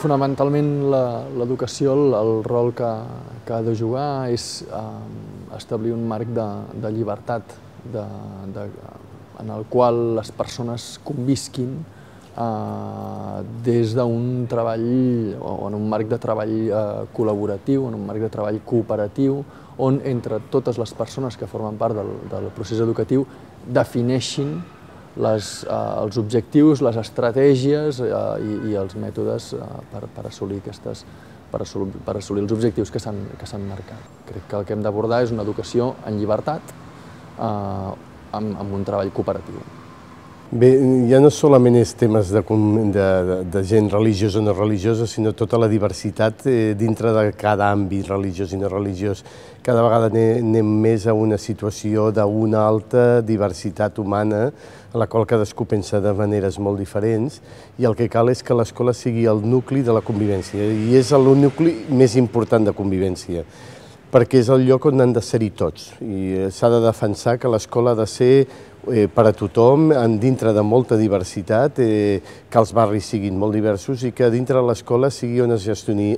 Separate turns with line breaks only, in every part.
Fonamentalment l'educació, el rol que ha de jugar és establir un marc de llibertat en el qual les persones convisquin des d'un treball o en un marc de treball col·laboratiu, en un marc de treball cooperatiu, on entre totes les persones que formen part del procés educatiu defineixin els objectius, les estratègies i els mètodes per assolir els objectius que s'han marcat. Crec que el que hem d'abordar és una educació en llibertat amb un treball cooperatiu.
Bé, ja no solament és temes de gent religiosa o no religiosa, sinó tota la diversitat dintre de cada àmbit religiós i no religiós. Cada vegada anem més a una situació d'una alta diversitat humana, a la qual cadascú pensa de maneres molt diferents, i el que cal és que l'escola sigui el nucli de la convivència, i és el nucli més important de convivència, perquè és el lloc on han de ser-hi tots, i s'ha de defensar que l'escola ha de ser per a tothom, dintre de molta diversitat, que els barris siguin molt diversos i que dintre de l'escola sigui on es gestioni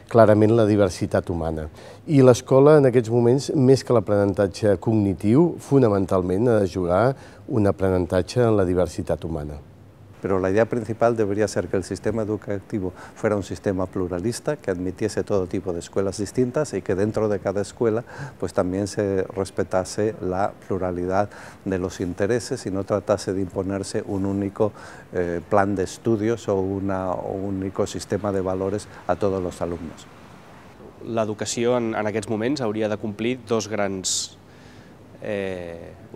clarament la diversitat humana. I l'escola, en aquests moments, més que l'aprenentatge cognitiu, fonamentalment ha de jugar un aprenentatge en la diversitat humana.
Pero la idea principal debería ser que el sistema educativo fuera un sistema pluralista, que admitiese todo tipo de escuelas distintas y que dentro de cada escuela pues también se respetase la pluralidad de los intereses y no tratase de imponerse un único plan de estudios o un único sistema de valores a todos los alumnos.
L'educació en aquests moments hauria de complir dos grans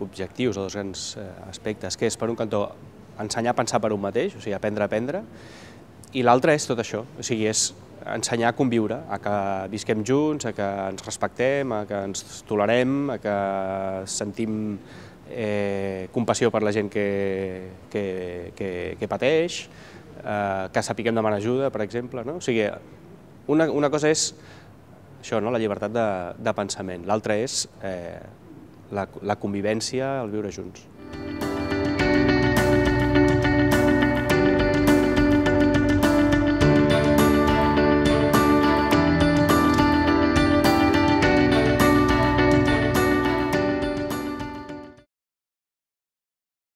objectius o dos grans aspectes, que és, per un cantó, ensenyar a pensar per un mateix, o sigui, aprendre a aprendre, i l'altre és tot això, o sigui, és ensenyar a conviure, a que visquem junts, a que ens respectem, a que ens tolerem, a que sentim compassió per la gent que pateix, que sapiguem demanar ajuda, per exemple, no? O sigui, una cosa és això, la llibertat de pensament, l'altra és la convivència, el viure junts.